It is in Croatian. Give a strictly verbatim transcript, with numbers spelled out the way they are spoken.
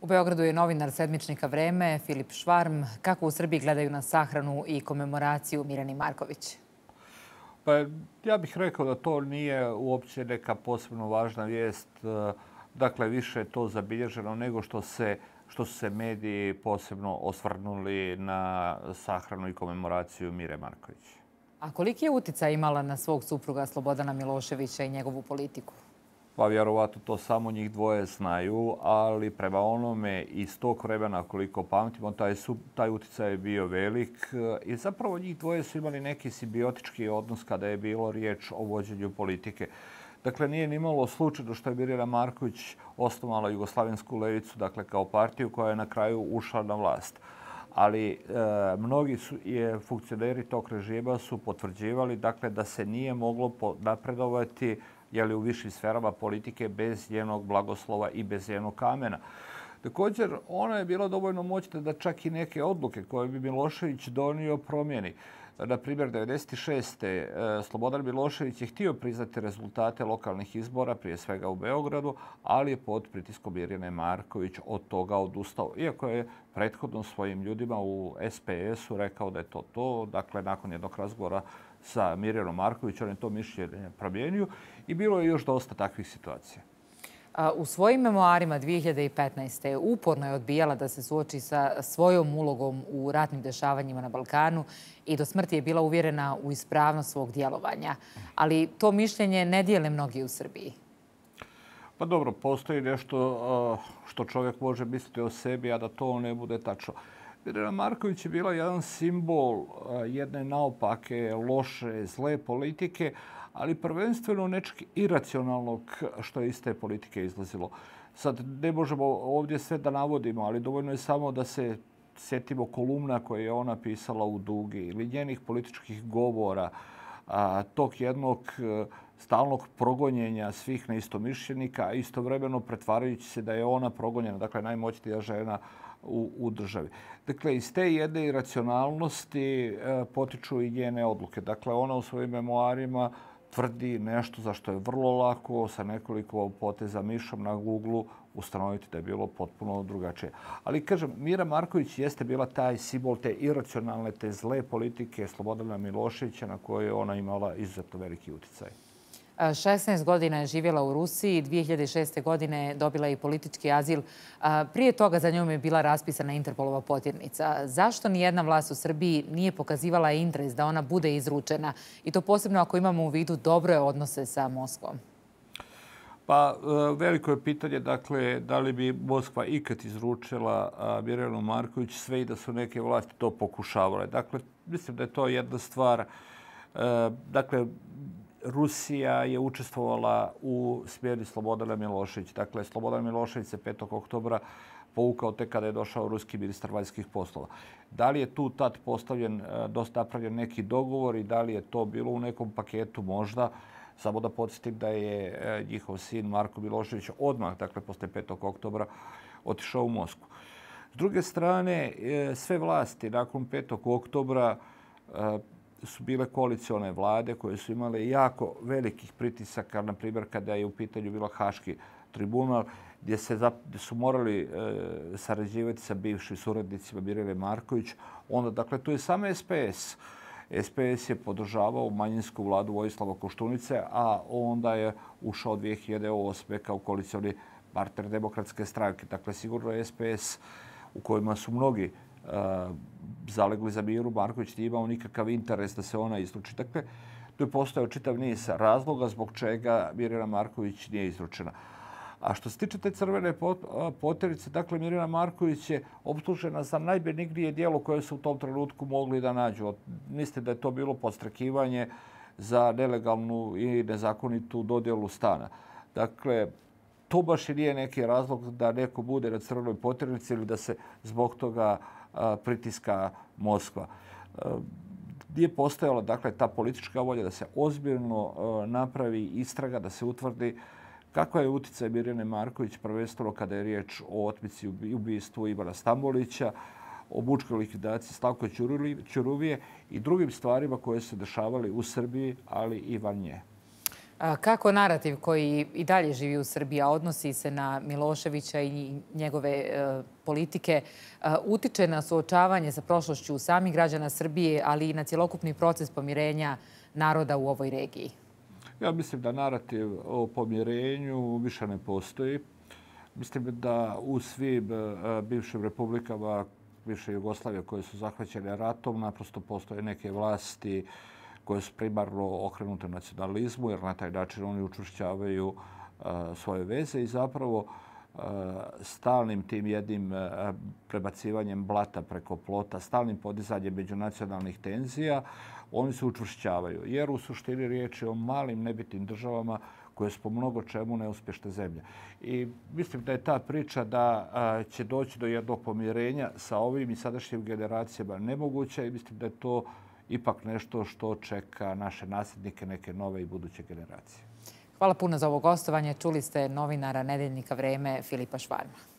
U Beogradu je novinar sedmičnika Vreme, Filip Švarm. Kako u Srbiji gledaju na sahranu i komemoraciju Mirjane Marković? Pa ja bih rekao da to nije uopće neka posebno važna vijest. Dakle, više je to zabilježeno nego što se što su se mediji posebno osvrnuli na sahranu i komemoraciju Mire Marković. A koliki je uticaj imala na svog supruga Slobodana Miloševića i njegovu politiku? Pa vjerovatno to samo njih dvoje znaju, ali prema onome iz tog vremena koliko pamtimo, taj, su, taj uticaj je bio velik i zapravo njih dvoje su imali neki simbiotički odnos kada je bilo riječ o vođenju politike. Dakle, nije ni malo slučajno što je Mirjana Marković osnovala Jugoslavensku levicu, dakle kao partiju koja je na kraju ušla na vlast. Ali e, mnogi su, je, funkcioneri tog režima su potvrđivali dakle, da se nije moglo napredovati jeli, u višim sferama politike bez njenog blagoslova i bez njenog kamena. Također, ona je bila dovoljno moćna da čak i neke odluke koje bi Milošević donio promijeni. Na primjer, devedeset šeste. Slobodan Milošević je htio priznati rezultate lokalnih izbora, prije svega u Beogradu, ali je pod pritiskom Mirjane Marković od toga odustao. Iako je prethodno svojim ljudima u S P S-u rekao da je to to. Dakle, nakon jednog razgovora sa Mirjanom Marković, on je to mišljenje promijenio i bilo je još dosta takvih situacija. U svojim memoarima dvije hiljade petnaeste. uporno je odbijala da se suoči sa svojom ulogom u ratnim dešavanjima na Balkanu i do smrti je bila uvjerena u ispravnost svog djelovanja. Ali to mišljenje ne dijele mnogi u Srbiji. Pa dobro, postoji nešto što čovjek može misliti o sebi, a da to ne bude tačno. Mirjana Marković je bila jedan simbol jedne naopake, loše, zle politike, ali prvenstveno nečeg iracionalnog što je iz te politike izlazilo. Sad ne možemo ovdje sve da navodimo, ali dovoljno je samo da se sjetimo kolumna koje je ona pisala u Dugi ili njenih političkih govora, a, tog jednog stalnog progonjenja svih neistomišljenika, a istovremeno pretvarajući se da je ona progonjena, dakle najmoćnija žena u, u državi. Dakle, iz te jedne iracionalnosti e, potiču i njene odluke. Dakle, ona u svojim memoarima tvrdi nešto za što je vrlo lako sa nekoliko poteza mišom na Google ustanoviti da je bilo potpuno drugačije. Ali, kažem, Mira Marković jeste bila taj simbol te iracionalne, te zle politike Slobodana Miloševića na koje je ona imala izuzetno veliki uticaj. šesnaest godina je živjela u Rusiji, dvije hiljade šeste. godine dobila je i politički azil. Prije toga za njom je bila raspisana Interpolova potjernica. Zašto nijedna vlast u Srbiji nije pokazivala interes da ona bude izručena? I to posebno ako imamo u vidu dobre odnose sa Moskvom. Pa veliko je pitanje, dakle, da li bi Moskva ikad izručila Mirjanu Marković, sve i da su neke vlasti to pokušavale. Dakle, mislim da je to jedna stvar. Dakle, Rusija je učestvovala u smjeni Slobodana Miloševića. Dakle, Slobodan Milošević se petog oktobra povukao tek kada je došao ruski ministar vanjskih poslova. Da li je tu tad postavljen, dosta napravljen neki dogovor i da li je to bilo u nekom paketu možda? Samo da podsjetim da je njihov sin Marko Milošević odmah, dakle, posle petog oktobra otišao u Moskvu. S druge strane, sve vlasti nakon petog oktobra su bile koalicione vlade koje su imale jako velikih pritisaka, na primjer kada je u pitanju bilo Haški tribunal, gdje, se, gdje su morali e, sarađivati sa bivšim suradnicima Mirjane Marković. Onda, dakle, tu je samo S P S. S P S je podržavao manjinsku vladu Vojislava Koštunice, a onda je ušao dvije hiljade osme. kao koalicioni partner Demokratske stranke. Dakle, sigurno je S P S u kojima su mnogi Uh, zalegli za Miru Marković nije imao nikakav interes da se ona izruči. Dakle, tu je postojao čitav niz razloga zbog čega Mirjana Marković nije izručena. A što se tiče te crvene potjerice, dakle, Mirjana Marković je optužena za najbenignije djelo koje su u tom trenutku mogli da nađu. Mislite da je to bilo podstrekivanje za nelegalnu i nezakonitu dodjelu stana. Dakle, to baš i nije neki razlog da neko bude na crvenoj potjernici ili da se zbog toga pritiska Moskva. Nije postojala, dakle, ta politička volja da se ozbiljno napravi istraga, da se utvrdi kakva je utjecaj Mirjane Marković, prvenstveno kada je riječ o otmici i ubistvu Ivana Stambolića, o mučkoj likvidaciji Slavka Ćuruvije i drugim stvarima koje su se dešavali u Srbiji, ali i van nje. Kako narativ koji i dalje živi u Srbiji, a odnosi se na Miloševića i njegove politike, utiče na suočavanje sa prošlošću samih građana Srbije, ali i na cjelokupni proces pomirenja naroda u ovoj regiji? Ja mislim da narativ o pomirenju više ne postoji. Mislim da u svim bivšim republikama bivše Jugoslavije koje su zahvaćene ratom naprosto postoje neke vlasti koje su primarno okrenute nacionalizmu, jer na taj način oni učvršćavaju svoje veze i zapravo stalnim tim jednim prebacivanjem blata preko plota, stalnim podizanjem međunacionalnih tenzija, oni se učvršćavaju. Jer u suštini riječ je o malim nebitnim državama koje su po mnogo čemu neuspješne zemlje. I mislim da je ta priča da će doći do jednog pomirenja sa ovim i sadašnjim generacijama nemoguća i mislim da je to ipak nešto što čeka naše nasljednike, neke nove i buduće generacije. Hvala puno za ovo gostovanje. Čuli ste novinara Nedeljnika Vreme Filipa Švarma.